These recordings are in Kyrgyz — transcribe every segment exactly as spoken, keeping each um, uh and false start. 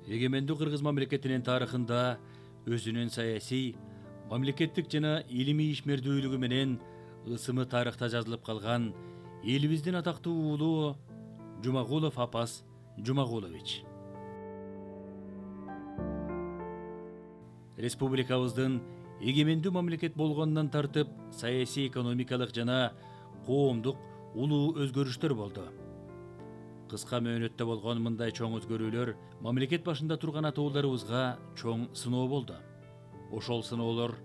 Эгемендүү Кыргыз мамлекетинин тарыхында өзүнүн саясий, мамлекеттик жана илимий ишмердүүлүгү менен ысымы тарыхта жазылып калган элибиздин атактуу уулу Жумагулов Апаз Жумагулович. Республикабыздын эгемендүү мамлекет болгондон тартып саясий, экономикалык жана коомдук улуу өзгөрүштөр болду. Кыска мөөнөттө болгон мындай чоң өзгөрүүлөр мамлекет башында турган атууларыбызга чоң сыноо болду. Ошол сыноолор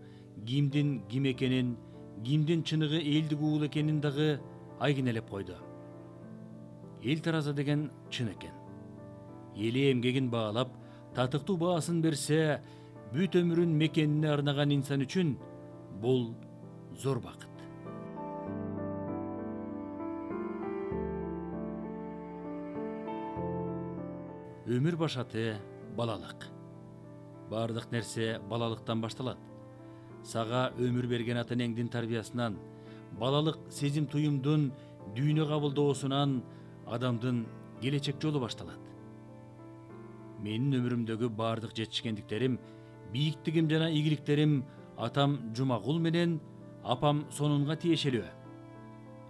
кимдин ким экенин, кимдин чыныгы элдик уул экенин дагы айгинелеп койду. Эл тараза деген чын экен. Эли эмгегин баалап, татыктуу баасын берсе, бүт өмүрүн мекенине арнаган инсан үчүн бул зор бакыт. Өмүр башаты балалык. Бардык нерсе балалыктан башталат. Сага өмүр берген ата энеңдин тарбиясынан, балалык сезим туюмдун дүйнө кабылдоосунан адамдын келечек жолу башталат. Менин өмүрүмдөгү бардык жетишкендиктерим, бийиктигим жана ийгиликтерим атам Жумагул менен апам Сонунга тиешелүү.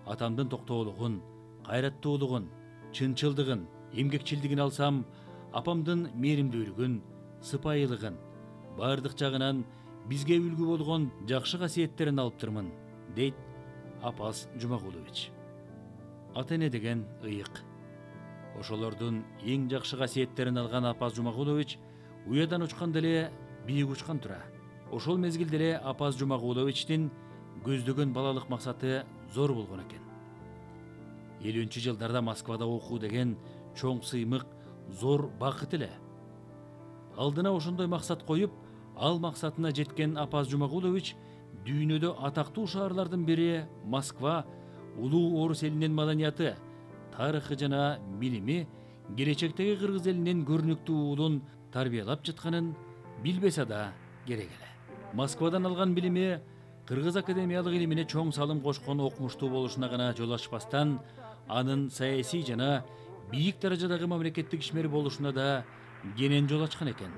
Атамдын токтоолугун, кайраттуулугун, чынчылдыгын, эмгекчилдигин алсам, апамдын мээримдүүлүгүн, сыпайылыгын, бардык жагынан бизге үлгү болгон жакшы касиеттерин алыптырмын, дейт Апаз Жумагулович. Ата эне деген ыйык. Ошолордун эң жакшы касиеттерин алган Апаз Жумагулович уядан учканда эле бийик учкан тура. Ошол мезгилде эле Апаз Жумагуловичтин көздөгөн балалык максаты зор болгон экен. элүүнчү жылдарда Москвада окуу деген чоң сыймык, зор бакыт эле. Алдына ошондой максат коюп, ал максатына жеткен Апаз Жумагулович дүйнөдө атактуу шаарлардын бири Москва улуу орус элинин маданияты, тарыхы жана билими келечектеги кыргыз элинин көрүнүктүү уулун тарбиялап жатканын билбесе да керек эле. Москвадан алган билими кыргыз академиялык илимине чоң салым кошкон окумуштуу болушуна гана жол ачпастан, анын саясий жана бийик даражадагы мамлекеттик ишмер болушуна да кенен жол ачкан экен.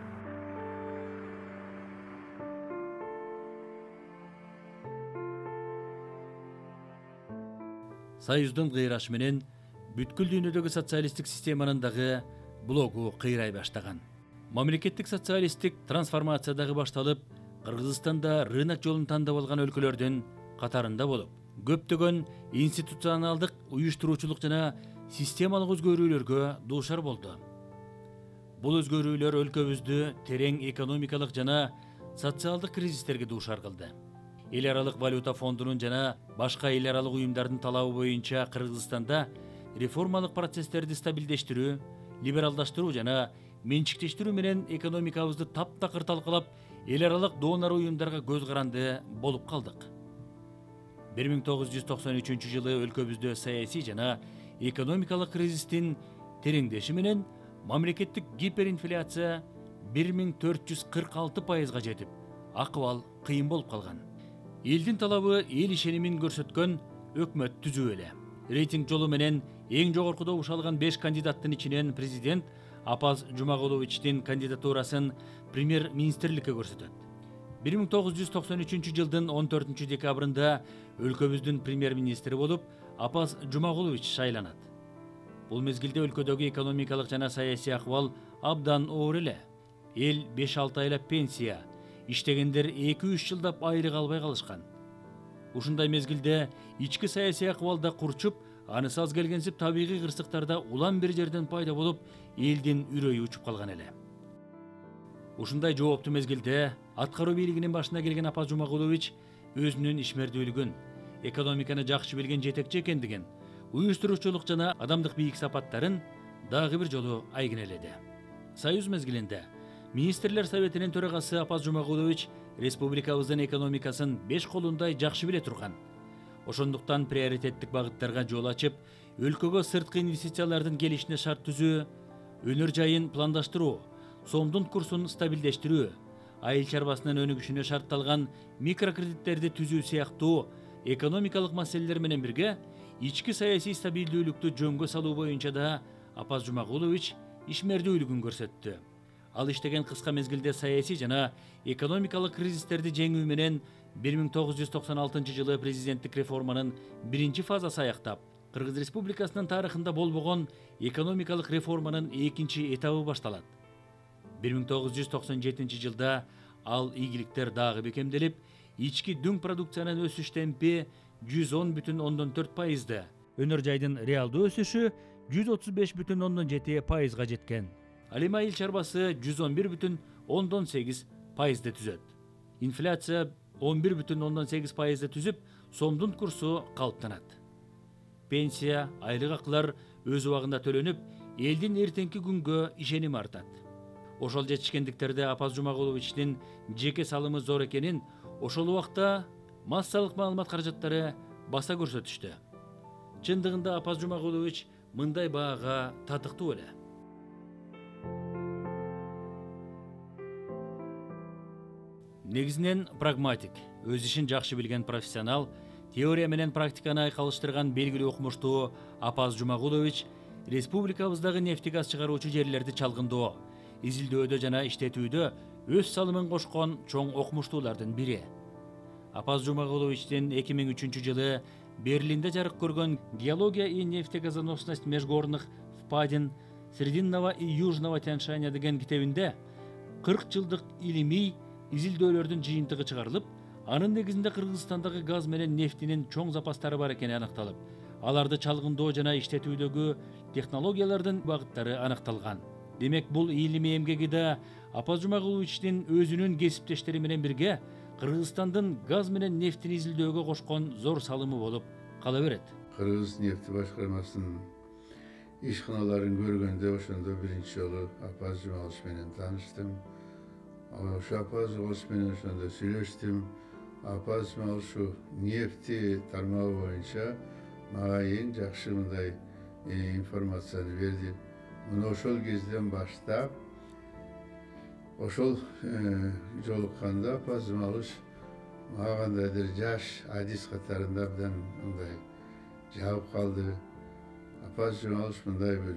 Союздун кыйрашы менен бүткүл дүйнөдөгү социалисттик системанын дагы блогу кыйрай баштаган. Мамлекеттик социалисттик трансформация дагы башталып, Кыргызстанда рынок жолун тандап алган өлкөлөрдүн катарында болуп, көптөгөн институционалдык, уюштуруучулук жана системалык өзгөрүүлөргө дуушар болду. Бул өзгөрүүлөр өлкөбүздү терең экономикалык жана социалдык кризистерге дуушар кылды. Эл аралык валюта фондунун жана башка эл аралык уюмдардын талабы боюнча Кыргызстанда реформалык процесстерди стабилдештирүү, либералдаштыруу жана менчиктештирүү менен экономикабызды таптакыр талкалап, эл аралык донор уюмдарга көз каранды болуп калдык. бир миң тогуз жүз токсон үчүнчү жылы өлкөбүздө саясий жана экономикалык кризистин тереңдеши менен мамлекеттик гиперинфляция бир миң төрт жүз кырк алты пайызга жетип, акыбал кыйын болуп калган. Элдин талабы эл ишенимин көрсөткөн өкмөт түзүү эле. Рейтинг жолу менен эң жогорку добуш алган беш кандидаттын ичинен президент Апаз Жумагуловичтин кандидатурасын премьер-министрликке көрсөтөт. бир миң тогуз жүз токсон үчүнчү жылдын он төртүнчү декабрында өлкөбүздүн премьер-министри болуп Апаз Жумагулович шайланат. Бул мезгилде өлкөдөгү экономикалык жана саясий акыбал абдан оор эле. Эл беш алты айлап пенсия, иштегендер эки үч жылдап айлык албай калышкан. Ушундай мезгилде ички саясий акыбал да курчуп, анысы аз келгенсип табигый кырсыктарда улам бир жерден пайда болуп, элдин үрөйү учуп калган эле. Ушундай жооптуу мезгилде аткаруу бийлигинин башына келген Апаз Жумагулович өзүнүн ишмердүүлүгүн, экономиканы жакшы билген жетекчи экендигин, уюштуруучулук жана адамдык бийик сапаттарын дагы бир жолу айгинеледи. Союз мезгилинде Министрлер советинин төрагасы Апаз Жумагулович республикабыздын экономикасын беш колундай жакшы биле турган. Ошондуктан приоритеттик багыттарга жол ачып, өлкөгө сырткы инвестициялардын келишине шарт түзүү, өнөр жайын пландаштыруу, сомдун курсун стабилдештирүү, айыл чарбасынын өнүгүшүнө шартталган микрокредиттерди түзүү сыяктуу экономикалык маселелер менен бирге ички саясий стабилдүүлүктү жөнгө салуу боюнча да Апаз Жумагулович ишмердүүлүгүн көрсөттү. Ал иштеген кыска мезгилде саясий жана экономикалык кризистерди жеңүү менен бир миң тогуз жүз токсон алтынчы жылы президенттик реформанын биринчи фазасы аяктап, Кыргыз Республикасынын тарыхында болбогон экономикалык реформанын экинчи этабы башталат. бир миң тогуз жүз токсон жетинчи жылда ал ийгиликтер дагы бекемделип, ички дүң продукциянын өсүш темпи жүз он бүтүн ондон төрт пайызды, өнөр жайдын реалдуу өсүшү жүз отуз беш бүтүн ондон жети пайызга жеткен. Ал эми айыл чарбасы жүз он бир бүтүн ондон сегиз пайызды түзөт. Инфляция он бир бүтүн ондон сегиз пайызды түзүп, сомдун курсу калыптанат. Пенсия, айлык акылар өз убагында төлөнүп, элдин эртеңки күнгө ишеними артат. Ошол жетишкендиктерде Апаз Жумагуловичтин жеке салымы зор экенин ошол убакта массалык маалымат каражаттары баса көрсөтүштү. Чындыгында Апаз Жумагулович мындай баага татыктуу эле. Негизинен прагматик, өз ишин жакшы билген профессионал, теория менен практиканы айкалыштырган белгилүү окумуштуу Апаз Жумагулович республикабыздагы нефти газ чыгаруучу жерлерди чалгындоо, изилдөөдө жана иштетүүдө өз салымын кошкон чоң окумуштуулардын бири. Апаз Жумагуловичтин эки миң үчүнчү жылы Берлинде жарык көргөн «Геология и нефтегазоносность межгорных впадин Срединного и Южного тяньшаня» деген китебинде кырк жылдык илимий изилдөөлөрдүн жыйынтыгы чыгарылып, анын негизинде Кыргызстандагы газ менен нефтинин чоң запастары бар экени аныкталып, аларды чалгындоо жана иштетүүдөгү технологиялардын багыттары аныкталган. Демек, бул илимий эмгеги да Апаз Жумагуловичтин өзүнүн кесиптештери менен бирге Кыргызстандын газ менен нефтин изилдөөгө кошкон зор салымы болуп кала берет. Кыргыз нефти башкармасынын ишканаларын көргөндө ошондо биринчи жолу Апаз Жумагулович менен тааныштым. Ошо Апаз Жумагулович менен ошондо сүйлөштүм. Апаз Жумагулович нефти тармагы боюнча мага эң жакшы мындай информацияны берди. Мына ошол кезден баштап ошол жолукканда Апаз Жумагулович мага кандайдыр жаш адис катарында абдан мындай жабып калды. Апаз Жумагулович мындай бир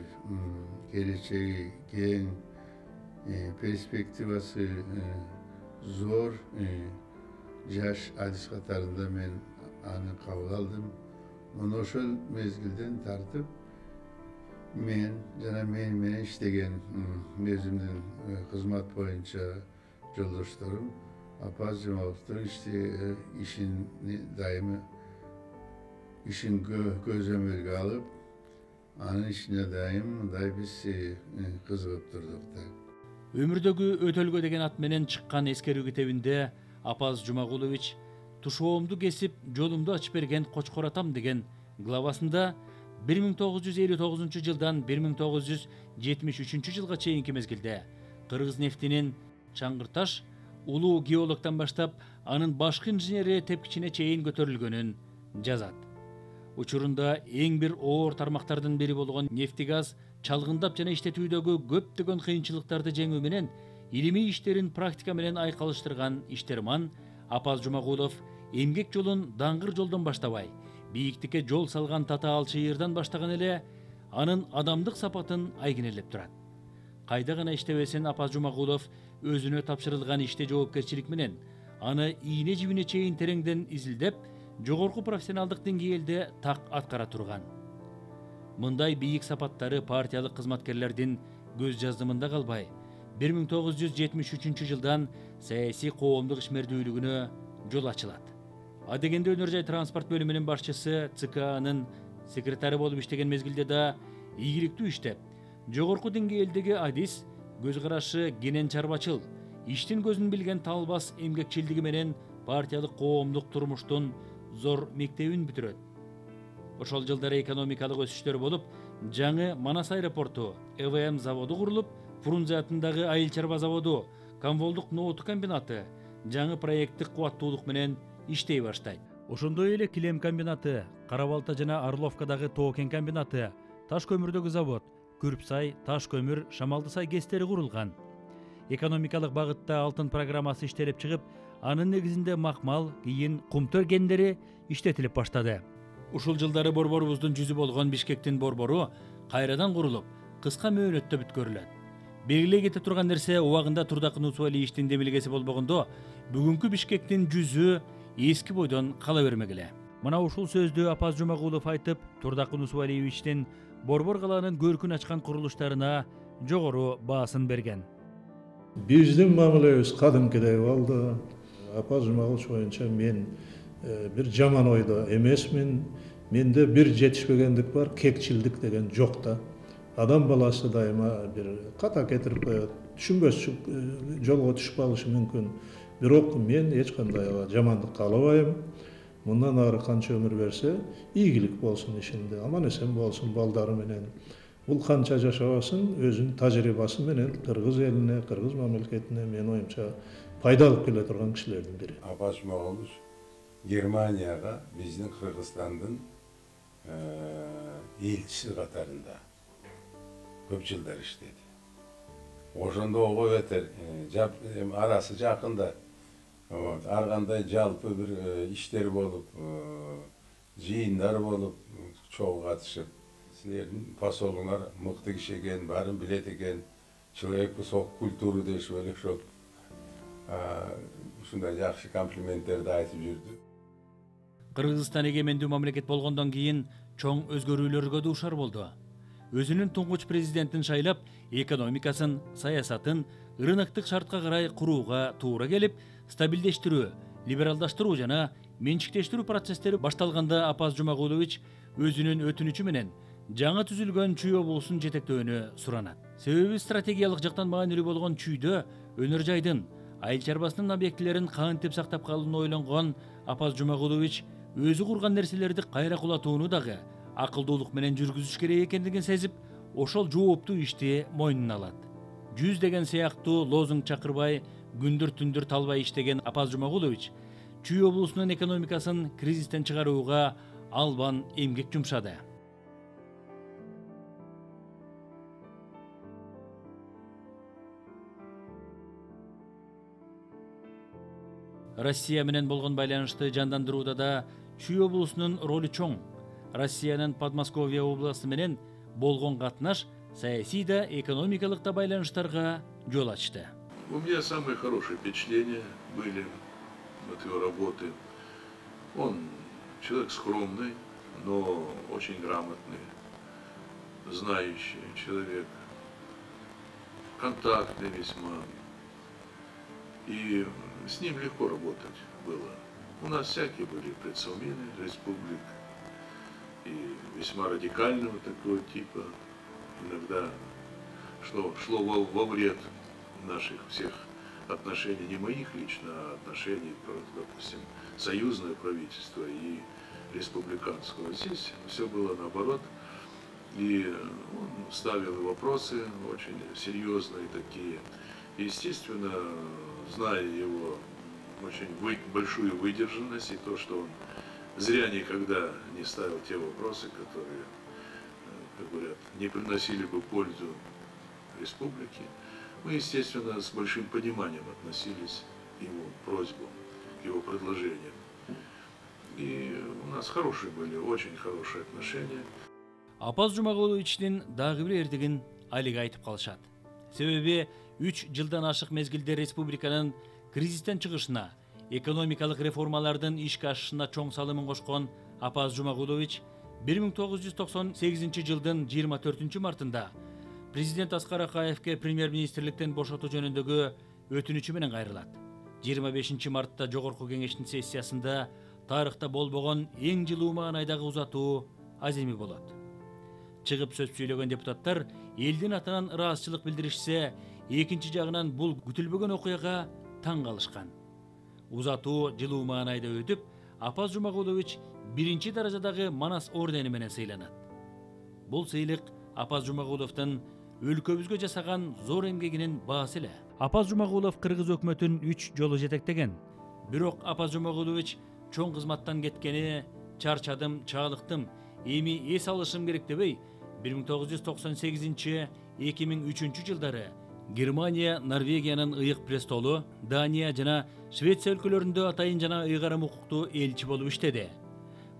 келечеги кең, перспективасы зор жаш адис катарында мен аны кабыл алдым. Мына ошол мезгилден тартып мен жана мен менен иштеген өзүмдүн кызмат боюнча жолдошторум Апаз Жумагуловичтин ишин дайыма ишин көзөмөлгө алып, анын ишине дайым мындай биз кызыгып турдук да. Өмүрдөгү өтөлгө деген ат менен чыккан эскерүү китебинде Апаз Жумагулович тушоомду кесип, жолумду ачып берген Кочкор атам деген главасында бир миң тогуз жүз элүү тогузунчу жылдан бир миң тогуз жүз жетимиш үчүнчү жылга чейинки мезгилде Кыргыз нефтинин Чаңгырташ улуу геологтон баштап анын башкы инженери тепкичине чейин көтөрүлгөнүн жазат. Учурунда эң бир оор тармактардын бири болгон нефти газ чалгындап жана иштетүүдөгү көптөгөн кыйынчылыктарды жеңүү менен илимий иштерин практика менен айкалыштырган иштерман Апаз Жумагулов эмгек жолун даңгыр жолдон баштабай, бийиктикке жол салган татаал чыйырдан баштаган эле анын адамдык сапатын айгинелеп турат. Кайда гана иштебесин Апаз Жумагулов өзүнө тапшырылган иште жоопкерчилик менен аны ийне жибине чейин тереңден изилдеп, жогорку профессионалдык деңгээлде так аткара турган. Мындай бийик сапаттары партиялык кызматкерлердин көз жаздымында калбай, бир миң тогуз жүз жетимиш үчүнчү жылдан саясий коомдук ишмердүүлүгүнө жол ачылат. Адегенде өнөр жай транспорт бөлүмүнүн башчысы ЦКнын секретары болуп иштеген мезгилде да ийгиликтүү иштеп, жогорку деңгээлдеги адис, көз карашы кенен чарбачыл, иштин көзүн билген талбас эмгекчилдиги менен партиялык коомдук турмуштун зор мектебин бүтүрөт. Ошол жылдары экономикалык өсүштөр болуп, жаңы Манас аэропорту, Э В М заводу курулуп, Фрунзе атындагы айыл чарба заводу, Камволдук нооту комбинаты жаңы проекттик кубаттуулук менен иштей баштайт. Ошондой эле килем комбинаты, Кара-Балта жана Орловкадагы тоо-кен комбинаты, таш көмүрдөгү завод, Күрпсай, таш көмүр, Шамалдысай гэстери курулган. Экономикалык багытта алтын программасы иштелип чыгып, анын негизинде макмал, кийин кумтөр кендери иштетилип баштады. Ушул жылдары борборубуздун жүзү болгон Бишкектин борбору кайрадан курулуп, кыска мөөнөттө бүткөрүлөт. белгилей кете турган нерсе убагында Турдакын Усубалиевичтин демилгеси болбогондо бүгүнкү Бишкектин жүзү эски бойдон кала бермек эле. Мына ушул сөздү Апаз Жумагулов айтып, Турдакын Усубалиевичтин Борбор калаанын көркүн ачкан курулуштарына жогору баасын берген. Биздин мамилебиз кадимкидей болду. Апаз Жумагулович боюнча мен бир жаман ойдо эмесмин. Менде бир жетишпегендик бар, кекчилдик деген жок да. Адам баласы дайыма бир ката кетирип коет, түшүнбөс жолго түшүп калышы мүмкүн. Бирок мен эч кандай жамандык каалабайм. Мындан ары канча өмүр берсе, ийгилик болсун ишинде, аман эсен болсун балдары менен. Бул канча жашабасын, өзүнүн тажрыйбасы менен кыргыз элине, кыргыз мамлекетине мен оюмча пайда алып келе турган кишилердин бири. Апаз Жумагулович Германияга биздин Кыргызстандын элчиси катарында көп жылдар иштеди. Ошондо ого бетер арасы жакында ар кандай жалпы бир иштер болуп, жыйындар болуп, чогуу катышып, силердин посолуңар мыкты киши экен, баарын билет экен, человек высокой культуры дешип эле ошол ушундай жакшы комплименттерди айтып жүрдү. Кыргызстан эгемендүү мамлекет болгондон кийин чоң өзгөрүүлөргө дуушар болду. Өзүнүн туңгуч президентин шайлап, экономикасын, саясатын рыноктук шартка карай курууга туура келип, стабилдештирүү, либералдаштыруу жана менчиктештирүү процесстери башталганда Апаз Жумагулович өзүнүн өтүнүчү менен жаңы түзүлгөн Чүй облусун жетектөөнү суранат. Себеби стратегиялык жактан маанилүү болгон Чүйдө өнөр жайдын, айыл чарбасынын объектилерин кантип сактап калууну ойлонгон Апаз Жумагулович өзү курган нерселерди кайра кулатууну дагы акылдуулук менен жүргүзүш керек экендигин сезип, ошол жооптуу ишти мойнуна алат. Жүз деген сыяктуу лозунг чакырбай, күндүр түндүр талбай иштеген Апаз Жумагулович Чүй облусунун экономикасын кризистен чыгарууга албан эмгек жумшады. Россия менен болгон байланышты жандандырууда да Чүй облусунун ролу чоң. Россиянын Подмосковье областы менен болгон катнаш саясий да, экономикалык да байланыштарга жол ачты. У меня самые хорошие впечатления были от его работы. Он человек скромный, но очень грамотный, знающий человек, контактный весьма. И с ним легко работать было. У нас всякие были предсовмины республик, и весьма радикального такого типа. Иногда шло, шло во, во вред наших всех отношений, не моих лично, а отношений, допустим, союзное правительство и республиканского. Здесь все было наоборот. И он ставил вопросы очень серьезные такие. Естественно, зная его очень вы, большую выдержанность и то, что он зря никогда не ставил те вопросы, которые, как говорят, не приносили бы пользу республике, мы, естественно, с большим пониманием относились к его просьбам, к его предложениям. И у нас хорошие были, очень хорошие отношения. Апаз Жумагуловичтин дагы бир эрдигин алига айтып калышат. Себеби үч жылдан ашык мезгилде республиканын кризистен чыгышына, экономикалык реформалардын ишке ашышына чоң салымын кошкон Апаз Жумагулович бир миң тогуз жүз токсон сегизинчи жылдын жыйырма төртүнчү мартында президент Аскар Акаевке премьер-министрликтен бошотуу жөнүндөгү өтүнүчү менен кайрылат. жыйырма бешинчи мартта жогорку кеңештин сессиясында тарыхта болбогон эң жылуу маанайдагы узатуу аземи болот. Чыгып сөз сүйлөгөн депутаттар элдин атынан ыраазычылык билдиришсе, экинчи жагынан бул күтүлбөгөн окуяга таң калышкан. Узатуу жылуу маанайда өтүп, Апаз Жумагулович биринчи даражадагы Манас ордени менен сыйланат. Бул сыйлык Апаз Жумагуловдун өлкөбүзгө жасаган зор эмгегинин баасы эле. Апаз Жумагулов кыргыз өкмөтүн үч жолу жетектеген. Бирок Апаз Жумагулович чоң кызматтан кеткени, чарчадым, чаалыктым, эми эс алышым керек дебей, бир миң тогуз жүз токсон сегизинчи — эки миң үчүнчү жылдары Германия, Норвегиянын ыйык престолу, Дания жана Швеция өлкөлөрүндө атайын жана ыйгарым укуктуу элчи болуп иштеди.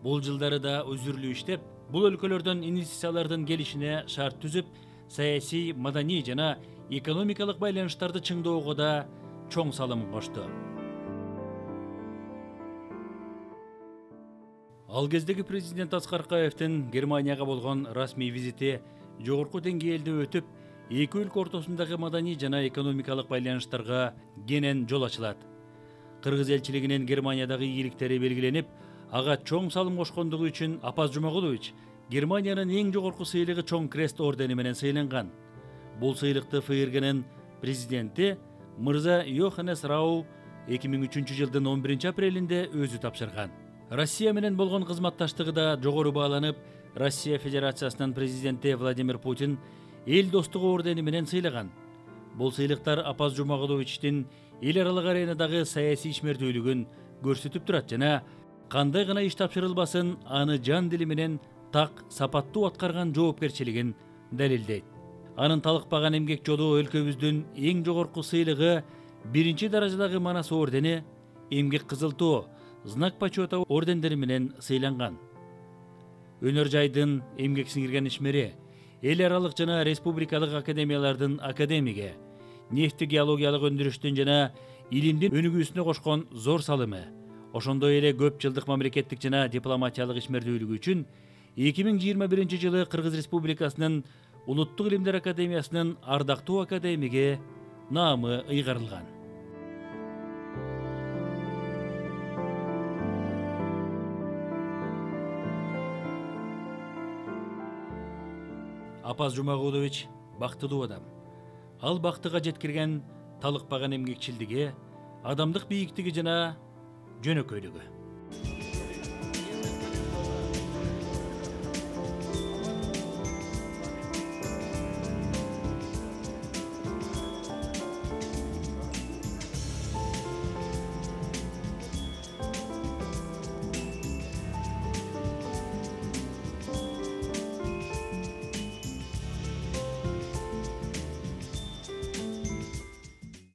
Бул жылдары да өзүрлүү иштеп, бул өлкөлөрдөн инвестициялардын келишине шарт түзүп, саясий, маданий жана экономикалык байланыштарды чыңдоого да чоң салым кошту. Ал кездеги президент Аскар Акаевдин Германияга болгон расмий визити жогорку деңгээлде өтүп, эки өлкө ортосундагы маданий жана экономикалык байланыштарга кенен жол ачылат. Кыргыз элчилигинин Германиядагы ийгиликтери белгиленип, ага чоң салым кошкондугу үчүн Апаз Жумагулович Германиянын эң жогорку сыйлыгы Чоң Крест ордени менен сыйланган. Бул сыйлыкты ФРГнын президенти мырза Йоханнес Рау эки миң үчүнчү жылдын он биринчи апрелинде өзү тапшырган. Россия менен болгон кызматташтыгы да жогору бааланып, Россия Федерациясынын президенти Владимир Путин эл достугу ордени менен сыйлаган. Бул сыйлыктар Апаз Жумагуловичтин эл аралык аренадагы саясий ишмердүүлүгүн көрсөтүп турат жана кандай гана иш тапшырылбасын, аны жан дили менен так сапаттуу аткарган жоопкерчилигин далилдейт. Анын талыкпаган эмгек жолу өлкөбүздүн эң жогорку сыйлыгы биринчи даражадагы Манас ордени, эмгек кызыл тоо, знак почета ордендери менен сыйланган. Өнөр жайдын эмгек сиңирген ишмери, эл аралык жана республикалык академиялардын академиги, нефти геологиялык өндүрүштүн жана илимдин өнүгүүсүнө кошкон зор салымы, ошондой эле көп жылдык мамлекеттик жана дипломатиялык ишмердүүлүгү үчүн эки миң жыйырма биринчи жылы Кыргыз Республикасынын Улуттук илимдер академиясынын ардактуу академиги наамы ыйгарылган. Апаз Жумагулович бактылуу адам. Ал бактыга жеткирген талыкпаган эмгекчилдиги, адамдык бийиктиги жана жөнөкөйлүгү.